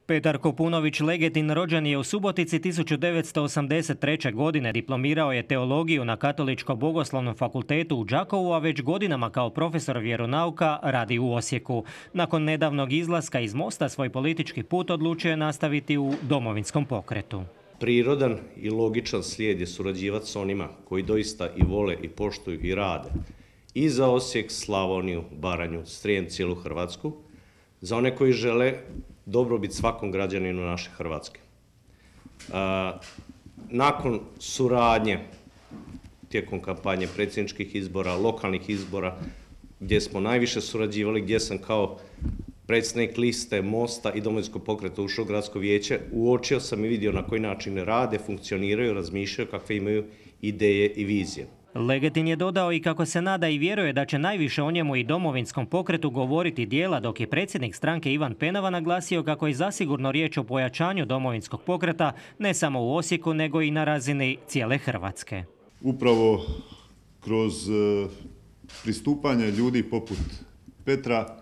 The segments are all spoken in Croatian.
Petar Kopunović Legetin rođen je u Subotici 1983. godine. Diplomirao je teologiju na Katoličko-bogoslovnom fakultetu u Đakovu, a već godinama kao profesor vjeronauka radi u Osijeku. Nakon nedavnog izlaska iz Mosta svoj politički put odlučio je nastaviti u Domovinskom pokretu. Prirodan i logičan slijed je surađivati s onima koji doista i vole i poštuju i rade i za Osijek, Slavoniju, Baranju, Srijem, cijelu Hrvatsku, za one koji žele dobrobit svakom građaninu naše Hrvatske. Nakon suradnje tijekom kampanje predsjedničkih izbora, lokalnih izbora, gdje smo najviše surađivali, gdje sam kao predsjednik liste Mosta i Domovinskog pokreta ušao u gradsko vijeće, uočio sam i vidio na koji način rade, funkcioniraju, razmišljaju, kakve imaju ideje i vizije. Legetin je dodao i kako se nada i vjeruje da će najviše o njemu i Domovinskom pokretu govoriti djela, dok je predsjednik stranke Ivan Penava naglasio kako je zasigurno riječ o pojačanju Domovinskog pokreta ne samo u Osijeku nego i na razini cijele Hrvatske. Upravo kroz pristupanje ljudi poput Petra,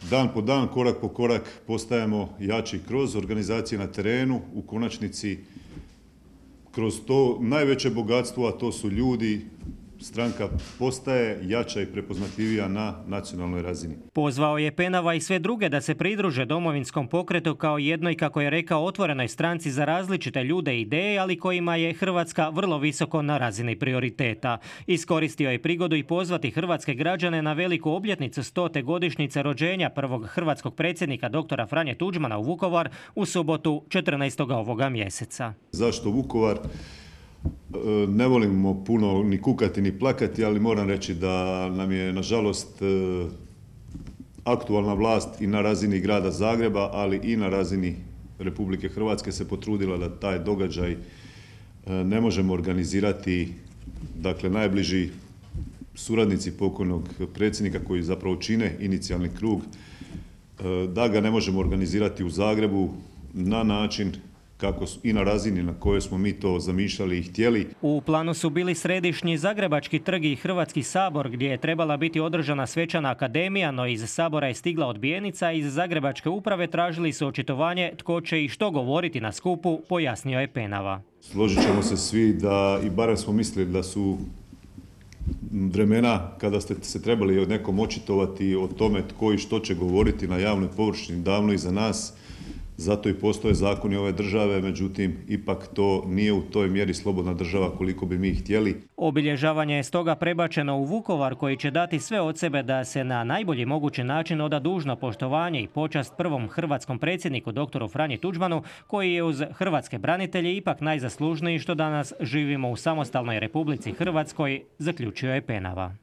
dan po dan, korak po korak postajemo jači kroz organizacije na terenu, u konačnici kroz to najveće bogatstvo, a to su ljudi, stranka postaje jača i prepoznatljivija na nacionalnoj razini. Pozvao je Penava i sve druge da se pridruže Domovinskom pokretu kao jednoj, kako je rekao, otvorenoj stranci za različite ljude i ideje, ali kojima je Hrvatska vrlo visoko na razini prioriteta. Iskoristio je prigodu i pozvati hrvatske građane na veliku obljetnicu 100. godišnjice rođenja prvog hrvatskog predsjednika dr. Franje Tuđmana u Vukovar u subotu 14. ovoga mjeseca. Zašto Vukovar? Ne volimo puno ni kukati ni plakati, ali moram reći da nam je nažalost aktualna vlast i na razini grada Zagreba, ali i na razini Republike Hrvatske se potrudila da taj događaj ne možemo organizirati. Dakle, najbliži suradnici pokojnog predsjednika koji zapravo čine inicijalni krug, da ga ne možemo organizirati u Zagrebu na način kako i na razini na kojoj smo mi to zamišljali i htjeli. U planu su bili središnji Zagrebački trg i Hrvatski sabor, gdje je trebala biti održana svečana akademija, no iz sabora je stigla odbijenica. Iz Zagrebačke uprave tražili su očitovanje tko će i što govoriti na skupu, pojasnio je Penava. Složit ćemo se svi da, i barem smo mislili da su vremena kada ste se trebali od nekom očitovati o tome tko i što će govoriti na javnoj površini davno iza nas. Zato i postoje zakoni ove države, međutim, ipak to nije u toj mjeri slobodna država koliko bi mi htjeli. Obilježavanje je stoga prebačeno u Vukovar, koji će dati sve od sebe da se na najbolji mogući način oda dužno poštovanje i počast prvom hrvatskom predsjedniku dr. Franji Tuđmanu, koji je uz hrvatske branitelje ipak najzaslužniji što danas živimo u samostalnoj Republici Hrvatskoj, zaključio je Penava.